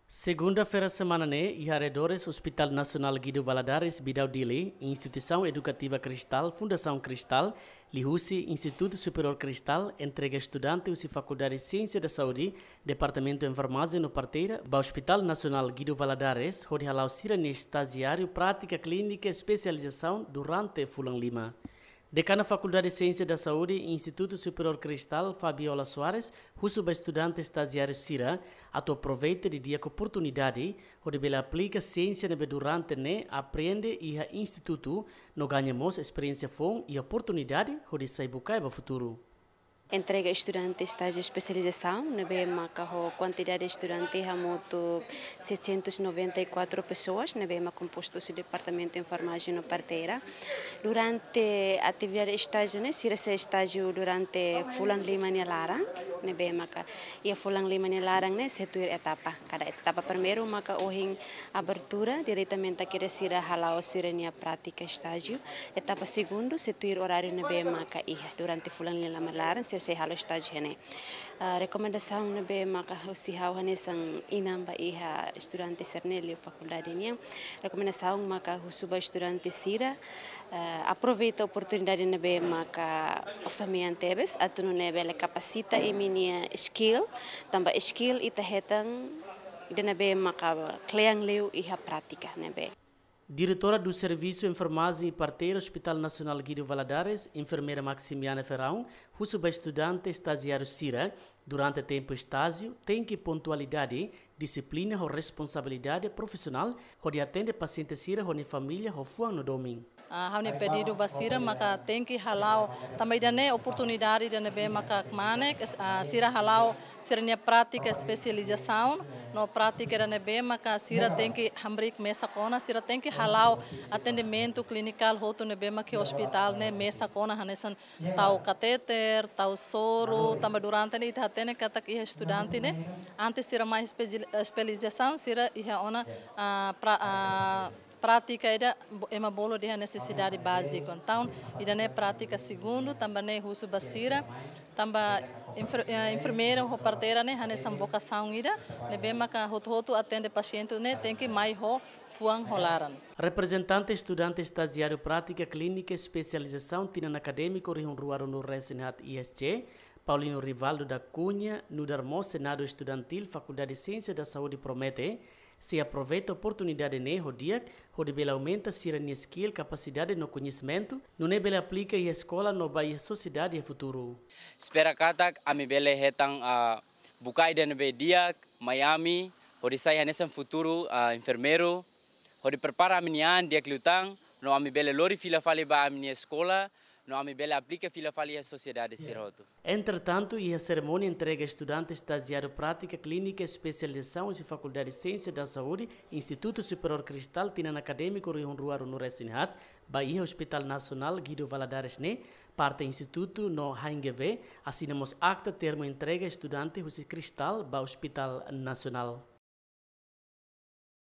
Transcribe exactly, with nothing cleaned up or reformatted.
Segunda-feira semana ne'e, iha arredores Hospital Nasionál Guido Valadares, Bidau Dili, Instituisaun Edukativa Cristal, Fundasaun Cristal, liuhusi Institutu Superiór Cristal, entrega estudante husi Fakuldade Siénsia da Saúde, Departamentu Enfermajén no Parteira, ba Hospital Nasionál Guido Valadares, hodi hala'o sira-nia estajiáriu prátika klínika espesializasaun durante fulan lima. Dekana Fakuldade Siénsia da Saúde, Institutu Superiór Cristal, Fabiola Soares, husu ba estudante estajiáriu sira atu aproveita didi'ak oportunidade hodi bele aplika siénsia ne'ebé durante ne'e aprende iha institutu, no gaña mós esperiénsia foun i oportunidade hodi sai bukae ba futuru. Entrega estudante estájiu espesializasaun, ne'ebé maka ho kuantidade estudante hamutuk setecentos noventa e quatro pessoas, ne'ebé maka kompostu husi Departamentu Enfermajén no Parteira. Durante atividade estájiu ne'e, sira sei estájiu durante fulan lima nia laran, ne'ebé maka iha fulan lima nia laran ne'e sei tuir etapa. Kada etapa primeiru maka ohin abertura, diretamente kedas sira hala'o sira-nia prátika estájiu. Etapa segundu, sei tuir oráriu ne'ebé maka iha durante fulan lima nia laran, sira sei halo estájiu iha ne'e. Ah, rekomendasaun ne'ebé maka husi ha'u hanesan inan ba iha estudante sira-ne'e liu fakuldade nian. Rekomendasaun maka husu ba estudante sira, ah, aproveita oportunidade ne'ebé maka osan mean tebes, atu nune'e bele kapasita imi-nia skill, tanba skill ita hetan ida ne'ebé maka kle'an liu iha prátika ne'ebé. Diretora do Serviço Enfermagem e Parteira Hospital Nasionál Guido Valadares, enfermeira Maximiana Ferrão, husu ba estudante estajiáriu sira, durante tempu estájiu, tenke pontualidade, dixiplina ho responsabilidade profisionál, hodi atende pasiente sira ho nia família ho fuan no domin. Ah, ha'u-nia pedidu ba sira maka tenke hala'o, tanba ida-ne'e oportunidade ida ne'ebé maka kmanek, es-, ah, sira hala'o sira-nia prátika espesializasaun, no prátika ida ne'ebé maka sira tenke hamriik mesak ona, sira tenke hala'o atendimentu klinikál hotu ne'ebé maka iha ospitál ne'e mesak ona, hanesan tau katéter, tau soru, tanba durante ne'e ita hatene katak iha estudante ne'e, antes sira mai espesi-, espesializasaun, sira iha ona, ah, pra-, ah, prátika ida bo-, ema bolu dehan nesesidade bázika. Entaun, ida-ne'e prátika segundu, tanba ne'e husu ba sira, tanba enfer-, eh, enfermeira ho parteira ne'e hanesan vokasaun ida, ne'ebé maka hotu-hotu atende pasiente ne'e tenke mai ho fuan ho laran. Reprezentante estudante estajiáriu prátika klínika espesializasaun tinan akadémiku rihun rua ruanulu-resin-haat I S C, Paulino Rivaldo da Cunha, nu'udar mós Senadu Estudantil Fakuldade Siénsia da Saúde promete, sei aproveita oportunidade ne'e ho di'ak, hodi bele aumenta sira-nia skill, kapasidade no koñesimentu, nune'e bele aplika iha eskola no ba iha sosiedade iha futuru. Espera katak ami bele hetan, ah, bukae ida ne'ebé di'ak mai ami, hodi sai hanesan futuru, ah, enfermeiru, hodi prepara ami-nia an di'ak liután, no ami bele lori fila fali ba ami-nia eskola, no ami bele aplika fila fali iha sosiedade sira hotu. Entretantu, iha serimónia entrega estudante estajiáriu prátika klínika espesializasaun husi Fakuldade Siénsia da Saúde, Institutu Superiór Cristal, tinan akadémiku rihun rua ruanulu-resin-haat, ba iha Hospital Nasionál Guido Valadares ne'e, parte institutu no H N G V asina mós akta termu entrega estudante husi Cristal ba Hospital Nasionál.